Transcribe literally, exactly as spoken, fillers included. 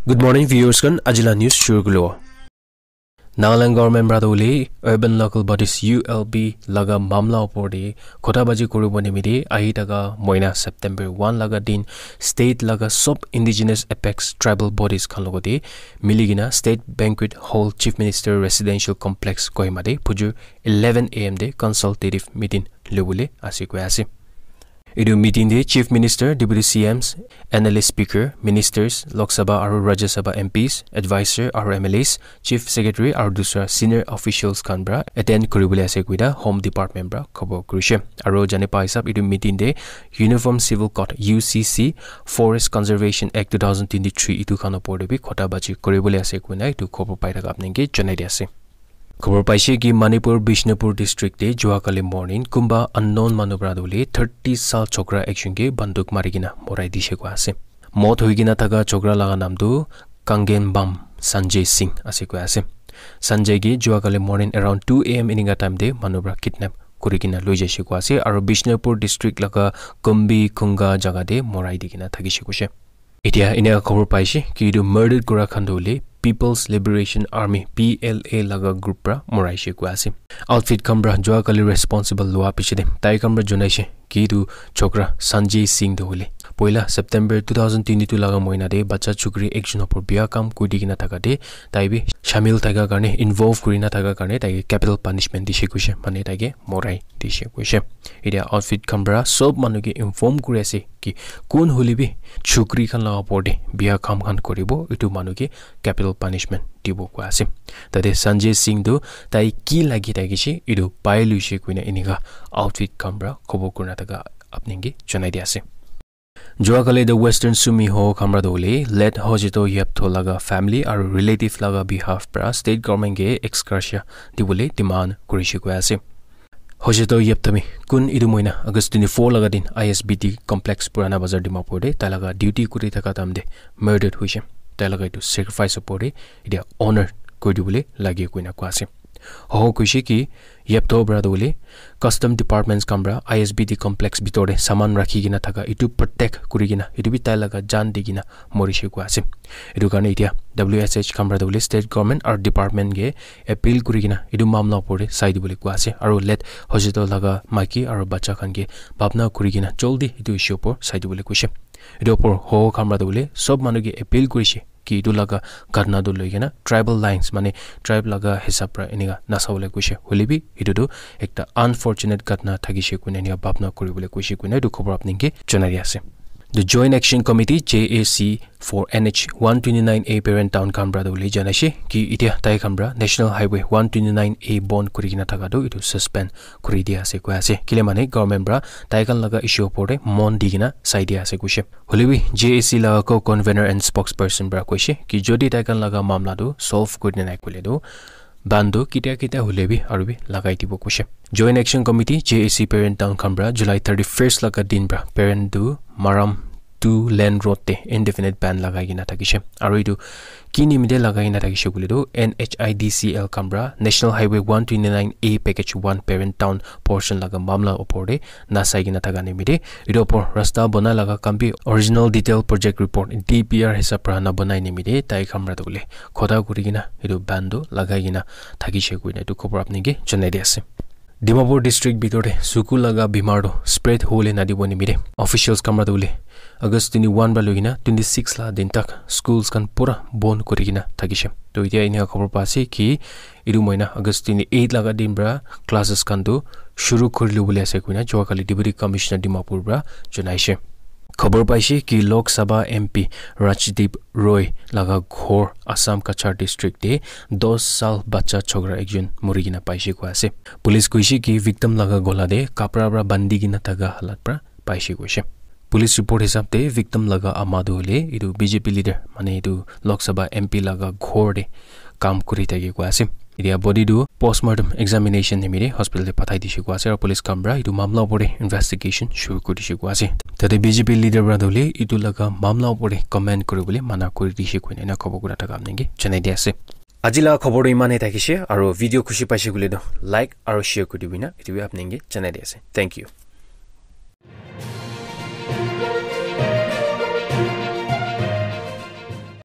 Good morning, viewers khan. Ajila news shuru kulo. Nagaland government para tu hoile urban local bodies U L B laga mamla opor te khota baji kuribo nimite ahi thaka moina September one laga din state laga sub indigenous apex tribal bodies khan logote mili kena State Banquet Hall Chief Minister Residential Complex Kohima te phujur eleven A M te consultative meeting lobole ase koi ase. Etu meeting te Chief Minister, Deputy C Ms, N L A Speaker, Ministers, Lok Sabha aru Rajya Sabha M Ps, Advisor aru M L As, Chief Secretary aru dusra senior officials khan para attend kuribole ase koina Home Department para khobor kurishe. Aru jane pa hisab etu meeting te Uniform Civil Code U C C, Forest Conservation Act two thousand twenty-three etu khan opor te bi khota baji kuribole ase koina etu khobor pai thaka apni ke janai di ase. Khobor paise ki Manipur Bishnupur district te jua kali morning kumba unknown manu para dole thirty sal chokra ekjon ke banduk mari kena morai dishe koi ase. Mot hui kena thaka chokra laga naam tu Kangen Bam Sanjay Singh ase koi ase. Sanjay ke jua kali morning around two A M eninka time te manu para kidnap kuri kena loi jaishe koi ase aru Bishnupur district laga Kumbi Khunga jaga te morai di kena thakishe koishe. Etia enika khobor paishe ki etu murder kura khan tu hoile People's Liberation Army, P L A, laga group para moraishe koi ase. Outfit khan para jua kali responsible lua piche te tai khan para junaishe ki etu chokra Sanjay Singh tu hoile poila September two thousand twenty-two laga moina te bacha chukri ekjon opor bia kam kuri kena thaka te tai bi shamil thaka karne, involve kuri na thaka karne tai ke capital punishment dishe koishe, mane tai ke morai dishe koishe. Etia outfit khan para sob manu ke inform kuri ase ki kun hoile bi chukri khan laga opor te bia kam khan kuribo, etu manu ke capital punishment dibo koi ase. Tate Sanjay Singh tu tai ki lagi thakishe etu pai luishe koina enika outfit khan para khobor kurina thaka apni ke janai di ase. Jua kali the Western Sumi Hoho khan para tu hoile late Hojito Yeptho laga family aru relative laga behalf para state government ke ex gratia dibole demand kurishe koi ase. Hojito Yepthami kun etu moina August twenty-four laga din I S B T complex Purana Bazar Dimapur te tai laga duty kuri thaka time te murdered hoishe. Tai laga etu sacrifice opor te etia honor kuri dibole lage koina koi ase. Hoho koishe ki Yeptho para tu hoile custom departments khan para I S B T complex bitor te saman rakhi kena thaka etu protect kuri kena etu bi tai laga jaan di kena morishe koi ase. Etu karne etia W S H khan para tu hoile state government aru department ke appeal kuri kena etu mamla opor te sai dibole koi ase aru late Hojito laga maiki aru bacha khan ke bhabna kuri kena jaldi etu issue opor sai dibole koishe. Etu opor Hoho khan para tu hoile sob manu ke appeal kurishe ki etu laga ghatna tu loi kena tribal lines, mane tribe laga hisab para enika nasabole koishe. Hoile bi etu tu ekta unfortunate ghatna thakishe koina enika bhabna kuribole koishe koina etu khobor apni ke janai di ase. The Joint Action Committee, J A C, for N H one twenty-nine A parent town khan para tu hoile janaishe ki etia tai khan para National Highway one twenty-nine A bon kuri kena thaka tu etu suspend kuri dia ase koi ase. Kile mane government para tai khan laga issue opor te mon di kena sai dia ase koishe. Hoile bi J A C laga co-convener and spokesperson para koishe ki jodi tai khan laga mamla tu solve kuri nai koile tu ban tu ketia ketia hoile bi aru bi lagai dibo koishe. Joint Action Committee, J A C parent town khan para July thirty-first laga din para parent tu Maram two lane road te indefinite ban lagai kena thakishe. Aru etu ki nimite lagai kena thakishe koile tu N H I D C L khan para National Highway one twenty-nine A package one parent town portion laga mamla opor te nasai kena thaka nimite etu opor rasta bona laga kam bi original detail project report, D P R, hisab para na banai nimite tai khan para tu hoile khota kuri kena etu ban tu lagai kena thakishe koina etu khobor apni ke janai di ase. Dimapur district bitor te suku laga bimar tu spread hole na dibo nimite officials khan para tu hoile August twenty-one para loi kena twenty-six la din tak schools khan pura bon kuri kena thakishe. To etia enika khobor pa ase ki etu moina August twenty-eight laga din para classes khan tu shuru kuri lobole ase koina jua kali Deputy Commissioner Dimapur para janaishe. Khobor paishe ki Lok Sabha M P Rajdeep Roy laga ghor Assam Cachar district te dos sal bacha chokra ekjon muri kena paishe koi ase. Police koishe ki victim laga gola te kapra para bandi kena thaka halat para paishe koishe. Police report hisab te victim laga ama tu hoile etu B J P leader, mane etu Lok Sabha M P laga ghor te kam kuri thake koi ase. Etia body tu postmortem examination nimite hospital te pathai dishe koi ase aru police khan para etu mamla opor te investigation shuru kuri dishe koi ase. Tate B J P leader para tu hoile etu laga mamla opor te comment kuribole mana kuri dishe koina ena khobor kura thaka apni ke janai di ase. Aji laga khobor tu imane thakishe aru video khushi paishe koile tu like aru share kuri dibi na etu bi apni ke janai di ase. Thank you.